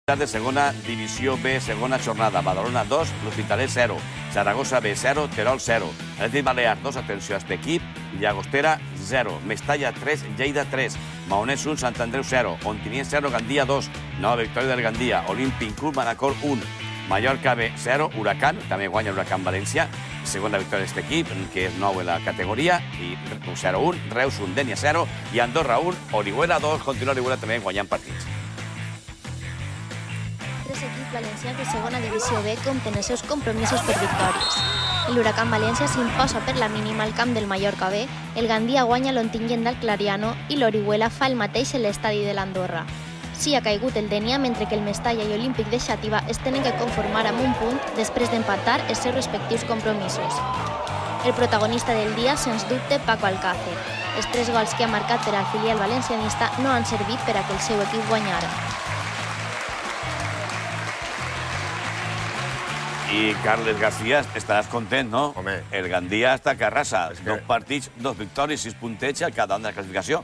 De segona divisió B, segona jornada. Badalona 2, l'Hospitalet 0. Saragossa B 0, Terol 0. Atlètic Balears 2, atenció a este equip. Llagostera 0. Mestalla 3, Lleida 3. Maonès 1, Sant Andreu 0. Ontinyent 0, Gandia 2. Nova victòria del Gandia. Olímpic Club Manacor 1. Mallorca B 0, Huracán, també guanya Huracán València. Segona victòria d'aquest equip, que és nou en la categoria. I 0-1, Reus 1, Dènia 0. I Andorra 1, Orihuela 2. Continua Orihuela també guanyant partits. Tres equips valencians de segona divisió B compten els seus compromisos per victòries. L'Huracán València s'imposa per la mínima al camp del Mallorca B, el Gandia guanya l'Ontinyent del Clariano i l'Orihuela fa el mateix en l'estadi de l'Andorra. Sí ha caigut el Dènia, mentre que el Mestalla i Olímpic de Xàtiva es tenen que conformar amb un punt després d'empatar els seus respectius compromisos. El protagonista del dia, sens dubte, Paco Alcácer. Els 3 gols que ha marcat per al filial valencianista no han servit per a que el seu equip guanyara. I Carles García, estaràs content, no? Home. El Gandia està que arrasa. 2 partits, 2 victòries, 6 punteig al cada una de la classificació.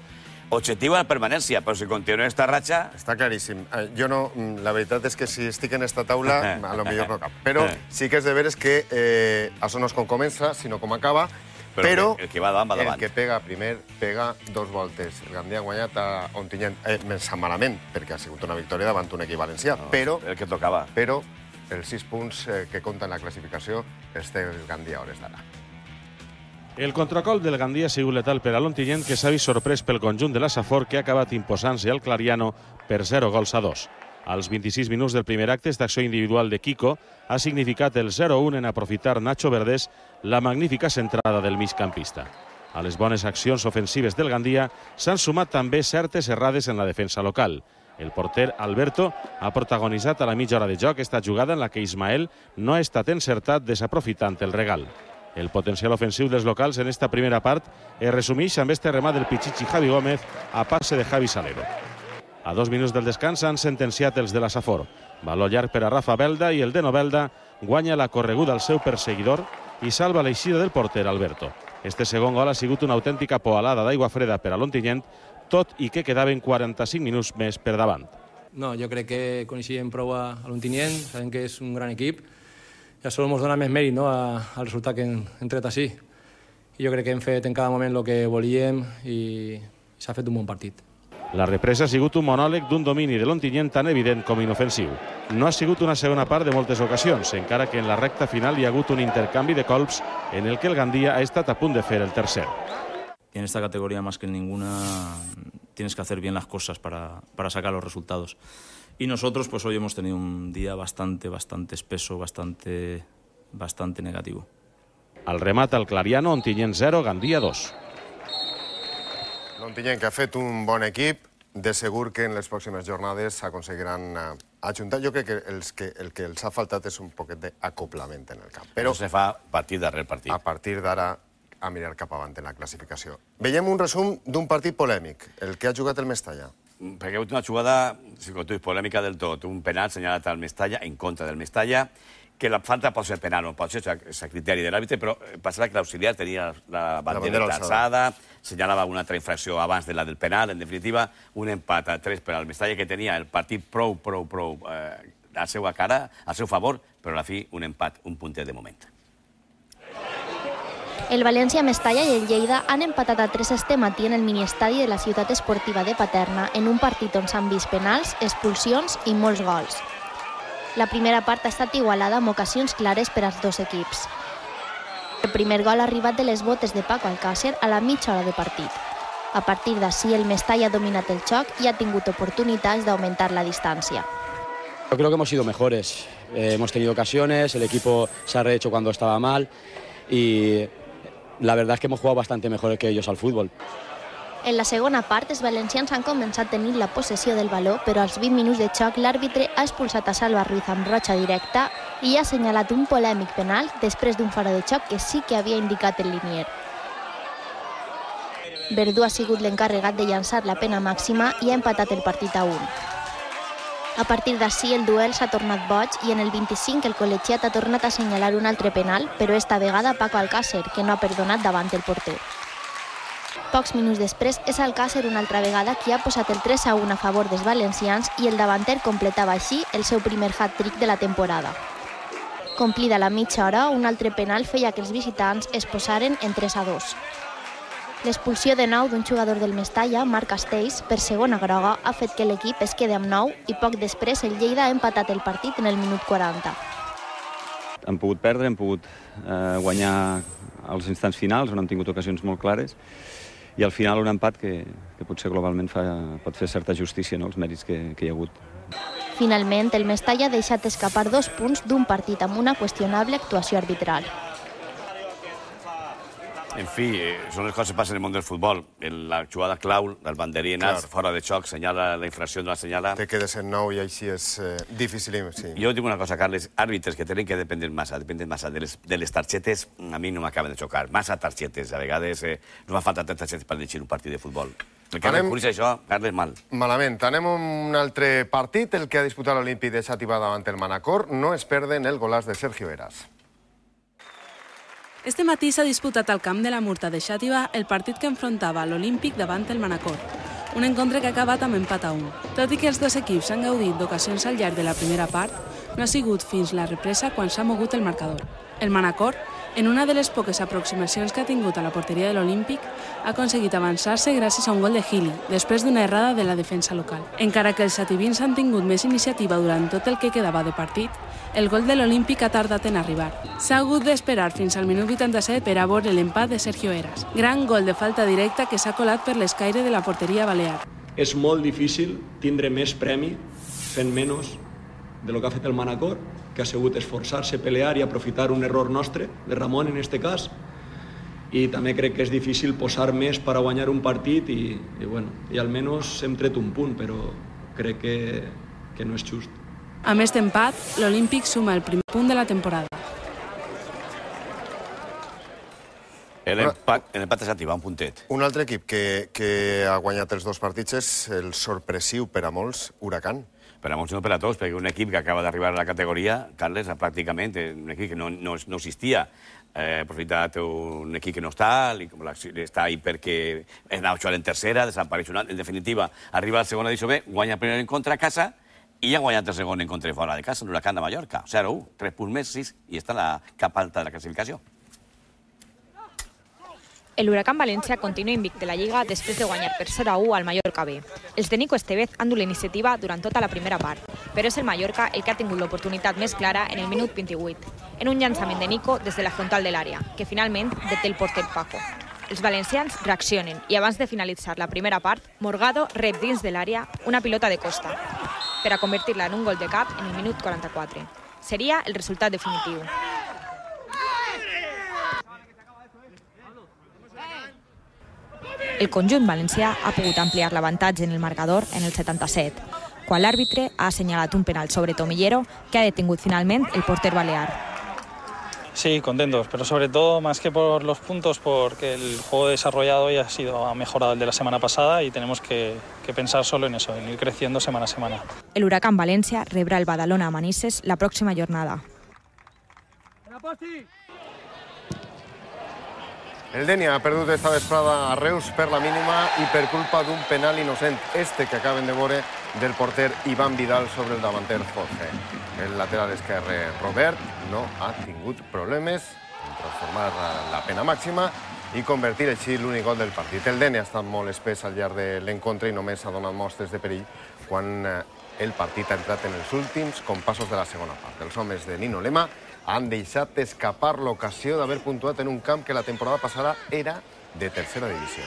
Objectiu a la permanència, però si continua esta ratxa... Està claríssim. Jo no... La veritat és que si estic en esta taula, a lo millor no cap. Però sí que és de veres que això no és com comença, sinó com acaba. Però el que va davant, va davant. El que pega primer, pega 2 voltes. El Gandia ha guanyat a Ontinyent, més malament, perquè ha sigut una victòria davant un equip valencià. Però... El que tocava. Però els 6 punts que compten la classificació els té el Gandia a hores d'ara. El contracol del Gandia ha sigut letal per a l'Ontinyent, que s'ha vist sorprès pel conjunt de la Safor, que ha acabat imposant-se al Clariano per 0-2. Als 26 minuts del primer acte, esta acció individual de Kiko ha significat el 0-1 en aprofitar Nacho Verdés la magnífica centrada del migcampista. A les bones accions ofensives del Gandia s'han sumat també certes errades en la defensa local. El porter Alberto ha protagonitzat a la mitja hora de joc esta jugada en la que Ismael no ha estat encertat desaprofitant el regal. El potencial ofensiu dels locals en esta primera part es resumeix amb este remat del Pichichi Javi Gómez a passe de Javi Salero. A 2 minuts del descans han sentenciat els de la Safor. Valor llarg per a Rafa Belda i el de Novelda guanya la correguda al seu perseguidor i salva l'eixida del porter Alberto. Este segon gol ha sigut una autèntica poalada d'aigua freda per a l'Ontinyent, tot i que quedaven 45 minuts més per davant. No, jo crec que coneixíem prou a l'Ontinyent, sabem que és un gran equip, ja solo ens dona més mèrit al resultat que hem tret així. I jo crec que hem fet en cada moment el que volíem i s'ha fet un bon partit. La represa ha sigut un monòleg d'un domini de l'Ontinyent tan evident com inofensiu. No ha sigut una segona part de moltes ocasions, encara que en la recta final hi ha hagut un intercanvi de colps en el que el Gandia ha estat a punt de fer el tercer. En esta categoría, más que en ninguna, tienes que hacer bien las cosas para sacar los resultados. Y nosotros, pues hoy hemos tenido un día bastante espeso, bastante negativo. Al remat al Clariano, Ontinyent 0, Gandia 2. L'Ontinyent, que ha fet un bon equip, de segur que en les pròximes jornades s'aconseguiran ajuntar. Jo crec que el que els ha faltat és un poquet d'acoplament en el camp. Però se fa partit darrere partit. A partir d'ara, a mirar cap avant en la classificació. Veiem un resum d'un partit polèmic, el que ha jugat el Mestalla. Perquè ha hagut una jugada, si tu és polèmica del tot, un penal senyalat al Mestalla, en contra del Mestalla, que la falta pot ser penal, no pot ser, és a criteri de l'àrbitre, però passava que l'auxiliar tenia la bandera alçada, senyalava una altra infracció abans de la del penal, en definitiva, un empat a 3 per al Mestalla, que tenia el partit prou a la seva cara, al seu favor, però a la fi un empat, un puntet de moment. El València, Mestalla i el Lleida han empatat a 3 este matí en el miniestadi de la ciutat esportiva de Paterna en un partit on s'han vist penals, expulsions i molts gols. La primera part ha estat igualada amb ocasions clares per als 2 equips. El primer gol ha arribat de les botes de Paco Alcácer a la mitja hora de partit. A partir d'ací, el Mestalla ha dominat el xoc i ha tingut oportunitats d'augmentar la distància. Yo creo que hemos sido mejores. Hemos tenido ocasiones, el equipo se ha rehecho cuando estaba mal y la verdad es que hemos jugado bastante mejor que ellos al fútbol. En la segona part, els valencians han començat tenint la possessió del baló, però als 20 minuts de xoc l'àrbitre ha expulsat a Salva Ruiz amb rotxa directa i ha assenyalat un polèmic penal després d'un faro de xoc que sí que havia indicat el linier. Verdú ha sigut l'encarregat de llançar la pena màxima i ha empatat el partit a 1. A partir d'ací el duel s'ha tornat boig i en el 25 el col·legiat ha tornat a assenyalar un altre penal, però esta vegada Paco Alcácer, que no ha perdonat davant el porter. Pocs minuts després és Alcácer una altra vegada qui ha posat el 3-1 a favor dels valencians i el davanter completava així el seu primer hat-trick de la temporada. Complida la mitja hora, un altre penal feia que els visitants es posaren en 3-2. L'expulsió de nou d'un jugador del Mestalla, Marc Castells, per segona groga, ha fet que l'equip es quedi amb 9 i poc després el Lleida ha empatat el partit en el minut 40. Hem pogut perdre, hem pogut guanyar als instants finals, on hem tingut ocasions molt clares, i al final un empat que potser globalment pot fer certa justícia, no?, els mèrits que hi ha hagut. Finalment, el Mestalla ha deixat escapar 2 punts d'un partit amb una qüestionable actuació arbitral. En fi, són les coses que passen en el món del futbol. La jugada clau, el banderí anat fora de xoc, senyala la infracció de la senyala. Te quedes en 9 i així és difícil. Sí. Jo dic una cosa, Carles, àrbitres que tenen que dependre massa de les targetes, a mi no m'acaben de xocar. Massa targetes, a vegades no fa falta tantes targetes per dirigir un partit de futbol. El que no coneix això, Carles, mal. Malament. Anem a un altre partit, el que ha disputat l'Olímpic de Xàtiva davant el Manacor. No es perden el golaç de Sergio Eras. Este matí s'ha disputat al camp de la Murta de Xàtiva el partit que enfrontava l'Olímpic davant el Manacor. Un encontre que ha acabat amb empat a 1. Tot i que els dos equips han gaudit d'ocasions al llarg de la primera part, no ha sigut fins la represa quan s'ha mogut el marcador. El Manacor, en una de les poques aproximacions que ha tingut a la porteria de l'Olímpic, ha aconseguit avançar-se gràcies a un gol de Gili, després d'una errada de la defensa local. Encara que els xativins han tingut més iniciativa durant tot el que quedava de partit, el gol de l'Olímpic ha tardat en arribar. S'ha hagut d'esperar fins al minut 87 per a veure l'empat de Sergio Eras. Gran gol de falta directa que s'ha colat per l'escaire de la porteria balear. És molt difícil tindre més premi fent menys de lo que ha fet el Manacor, que ha sigut esforçar-se, pelear i aprofitar un error nostre, de Ramon en este cas, i també crec que és difícil posar més per a guanyar un partit i almenys hem tret un punt, però crec que no és just. Amb aquest empat, l'Olímpic suma el primer punt de la temporada. L'empat és activar, un puntet. Un altre equip que ha guanyat els 2 partits és el sorpressiu per a molts, Huracán. Per a molts no per a tots, perquè un equip que acaba d'arribar a la categoria, Carles, pràcticament, un equip que no existia. Aprofitat un equip que no està, està ahí perquè anava jugant en tercera, desapareix una... En definitiva, arriba a la segona divisió B, guanya el primer encontre a casa i ha guanyat el segon encontre fora de casa, l'Huracán de Mallorca. 0-1, 3 punts més, 6, i està a la cap alta de la classificació. El Huracán Valencia continua invicte la Lliga després de guanyar per 0-1 al Mallorca B. Els de Nico Estevez han dut la iniciativa durant tota la primera part, però és el Mallorca el que ha tingut l'oportunitat més clara en el minut 28, en un llançament de Nico des de la frontal de l'àrea, que finalment deté el porter Paco. Els valencians reaccionen i abans de finalitzar la primera part, Morgado rep dins de l'àrea una pilota de costa, per a convertir-la en un gol de cap en el minut 44. Seria el resultat definitiu. El conjunt valencià ha pogut ampliar l'avantatge en el marcador en el 77, quan l'àrbitre ha assenyalat un penal sobre Tomillero que ha detingut finalment el porter balear. Sí, contentos, pero sobre todo, más que por los puntos, porque el juego desarrollado ya ha mejorado el de la semana pasada y tenemos que pensar solo en eso, en ir creciendo semana a semana. El Huracán Valencia rebrà el Badalona a Manises la pròxima jornada. El Denia ha perdut esta vesprada a Reus per la mínima i per culpa d'un penal innocent, este que acaben de veure del porter Iván Vidal sobre el davanter Jorge. El lateral esquerre Robert no ha tingut problemes en transformar la pena màxima i convertir així l'únic gol del partit. El Denia ha estat molt espès al llarg de l'encontre i només ha donat mostres de perill quan el partit ha entrat en els últims compassos de la segona part. Els homes de Nino Lema han deixat escapar l'ocasió d'haver puntuat en un camp que la temporada passada era de tercera divisió.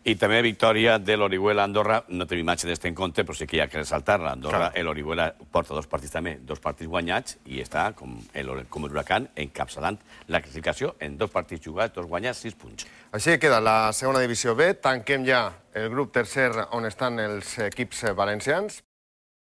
I també victòria de l'Orihuela-Andorra. No tenim imatge d'aquest encontre, però sí que hi ha que ressaltar-la. Andorra, l'Orihuela porta 2 partits també, 2 partits guanyats, i està, com l'Huracán, encapçalant la classificació en 2 partits jugats, 2 guanyats, 6 punts. Així queda la segona divisió B. Tanquem ja el grup tercer on estan els equips valencians.